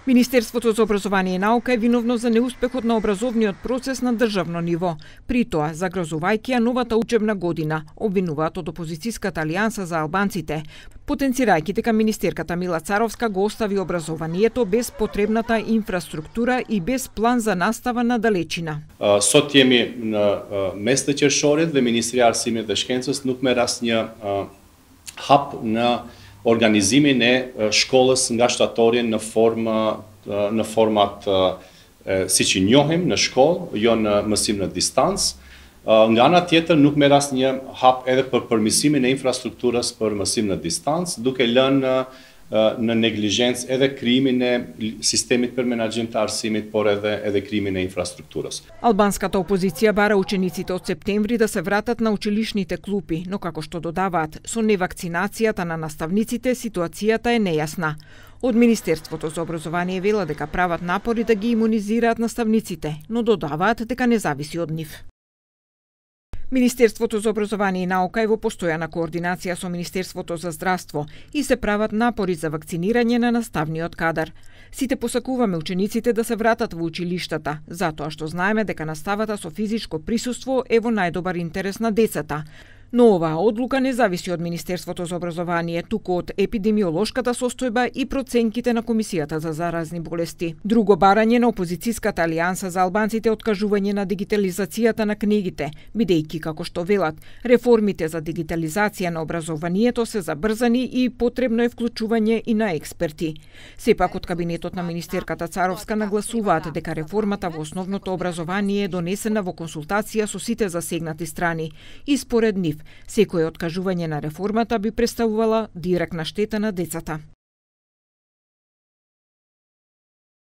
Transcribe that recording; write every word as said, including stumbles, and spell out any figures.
Министерството за образование и наука е виновно за неуспехот на образовниот процес на државно ниво. При тоа, загрозувајќи ја новата учебна година, обвинуваат од опозицијската алијанса за албанците, потенцирајќи дека министерката Мила Царовска го остави образованието без потребната инфраструктура и без план за настава на далечина. Sot jemi në mes të qershorit dhe Ministria e Arsimit dhe Shkencës nuk merr asnjë hap në organizimin e shkollës nga shtatori në formë në format siç i njohim në shkollë, jo në mësim në distancë. Nga ana tjetër nuk merr asnjë hap edhe për përmirësimin e infrastrukturës për mësim në distancë, duke lënë në neglizhencë edhe krijimin e sistemit për menaxhim të arsimit, por edhe edhe krijimin e infrastrukturës. Албанската опозиција бара учениците од септември да се вратат на училишните клупи, но како што додаваат, со невакцинацијата на наставниците ситуацијата е нејасна. Од Министерството за образование вела дека прават напори да ги имунизираат наставниците, но додаваат дека не зависи од нив. Министерството за образование и наука е во постојана координација со Министерството за здравство и се прават напори за вакцинирање на наставниот кадар. Сите посакуваме учениците да се вратат во училиштата, затоа што знаеме дека наставата со физичко присуство е во најдобар интерес на децата. Но оваа одлука не зависи од Министерството за образование, туку од епидемиолошката состојба и проценките на Комисијата за заразни болести. Друго барање на опозицијската алијанса за албанците е откажување на дигитализацијата на книгите, бидејќи, како што велат, реформите за дигитализација на образованието се забрзани и потребно е вклучување и на експерти. Сепак од кабинетот на министерката Царовска нагласуваат дека реформата во основното образование е донесена во консултација со сите засегнати страни и според нив секое откажување на реформата би представувала директна штета на децата.